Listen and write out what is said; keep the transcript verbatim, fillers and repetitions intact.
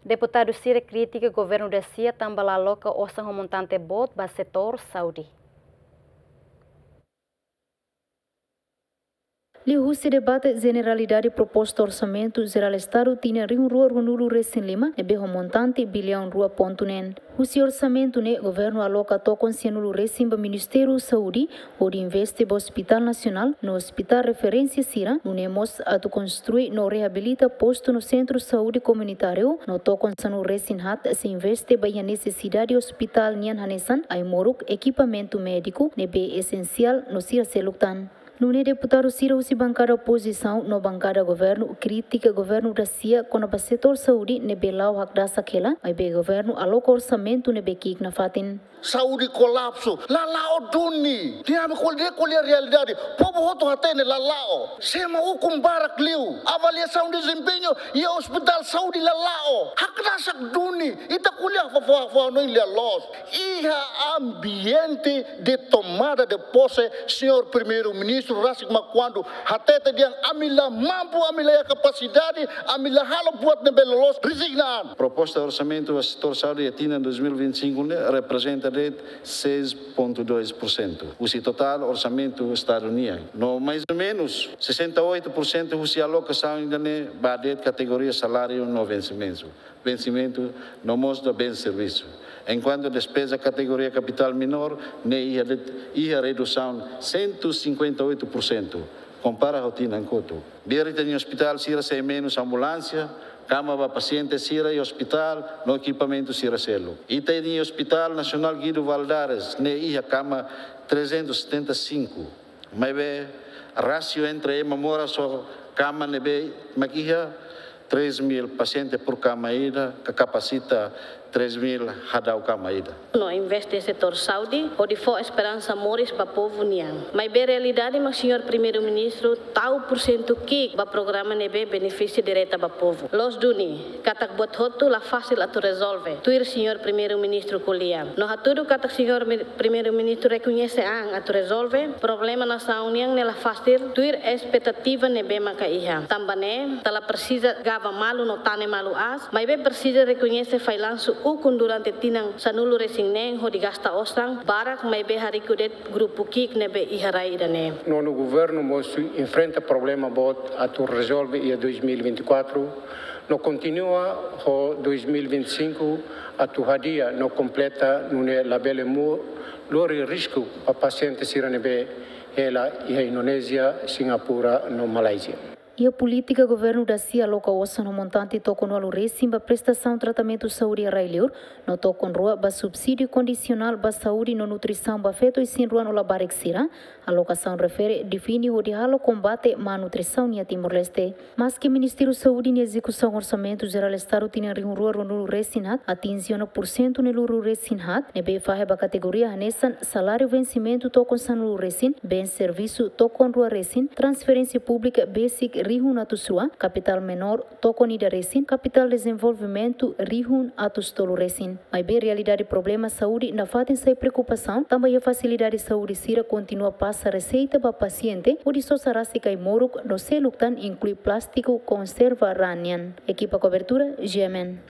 Deputadu sira kritika governu dasia tanba la aloka osan ho montante boot ba setór saúde. Liuhusi debate jeneralidade proposta orsamentu jerál Estadu tinan rihun rua ruanulu resin lima ne'ebé ho montante biliaun rua pontu neen. Husi orsamentu ne'e governu aloka tokon sianulu resin ba Ministériu Saúde, hodi investe ba Hospitál Nasionál no hospitál referénsia sira, nune'e mós atu konstrui no reabilita postu no sentru saúde komunitáriu, no tokon sanulu resin haat sei investe ba iha nesesidade hospitál nian hanesan ai-moruk, ekipamentu médiku ne'ebé esensiál no sira seluk tan. Nune'e deputadu sira husi bankada opozisaun no bankada governu kritika governu dasia kona-ba setór saúde ne'ebé la'o hakdasak hela, maibé governu aloka orsamentu ne'ebé ki'ik nafatin. Saúde kolapsu, la la'o duni. Nia me ko'alia, ko'alia realidade. Povu hotu hatene la la'o. Sema ukun barak liu. Avaliasaun dezempeñu iha ospitál saúde la la'o. Hakdasak duni. Ita ko'alia fó, fó, fó, no ilia loos. Iha ambiente de tomada de posse, señór Primeiru-Ministru rasik mak kuandu hatete dehan ami la mampu, ami la iha kapasidade, ami la halo buat ne'ebé loloos, rezigna an. Proposta orsamentu ba setór saúde iha tinan dois mil e vinte e cinco ne'e reprezenta de'it seis ponto dois por cento husi totál orsamentu Estadu nian. No mais ou menus sessenta e oito por cento husi alokasaun ida-ne'e ba de'it kategoria saláriu no vensimentu. Vensimentu no mós ba bens servisu. Enkuantu despeza kategoria kapitál menór ne'e iha de, iha redusaun cento e cinquenta e oito por cento, kompara ho tinan kotuk. Bele ita-nia ospitál sira sei menus ambulánsia, kama ba pasiente sira iha ospitál, no ekipamentu sira seluk. Ita-nia Hospital Nacional Guido Valadares ne'e iha kama trezentos e setenta e cinco. Maibé, rasio entre ema moras ho kama ne'ebé mak iha três mil pasiente por kama ida, ka kapasita três mil hadau kama ida. No investe setór saúde, hodi fó esperansa moris ba povu nian. Maibé realidade mak señór Primeiru-Ministru tau porsentu ki'ik ba programa ne'ebé benefísiu direta ba povu. Loos duni, katak buat hotu la fasil atu rezolve, tuir señór Primeiru-Ministru ko'alia. No hatudu katak señór mi-, Primeiru-Ministru rekoñese an atu rezolve problema nasaun nian ne'e la fasil, tuir espetativa ne'ebé maka iha. Tanba ne'e, ita la presiza gaba malu no tane malu aas, maibé presiza rekoñese fallansu ukun durante tinan sanulu resin neen hodi gasta osan barak, maibé hariku de'it grupu ki'ik ne'ebé iha rai ida-ne'e. Nonu governu mós enfrenta problema boot atu rezolve iha dois mil e vinte e quatro, no kontinua ho dois mil e vinte e cinco atu hadi'a no kompleta, nune'e labele mós lori risku ba pasiente sira ne'ebé hela iha Indonézia, Singapura no Malázia. Iha polítika governu dasia aloka osan ho montante tokon ualu resin ba prestasaun tratamentu saúde iha rai-liur, no tokon rua ba subsídiu kondisionál ba saúde no nutrisaun ba feto isin-rua no labarik sira. Alokasaun refere define hodi halo kombate má nutrisaun iha Timor-Leste. Maski Ministériu Saúde nia ezekusaun orsamentu jerál Estadu tinan rihun rua ruanulu resin haat atinje ona porsentu ne'e luru resin haat, ne'ebé fahe ba kategoria hanesan saláriu vensimentu tokon sanulu resin, bens servisu tokon rua resin, transferénsia públika besik rihun atus rua, kapitál menór tokon ida resin, kapitál dezenvolvimentu rihun atus tolu resin. Maibé realidade problema saúde nafatin sai preokupasaun, tanba iha fasilidade saúde sira kontinua pasa reseita ba pasiente hodi sosa rasik ai-moruk no seluk tan, inklui plástiku konserva raan nian. Ekipa kobertura, G M N.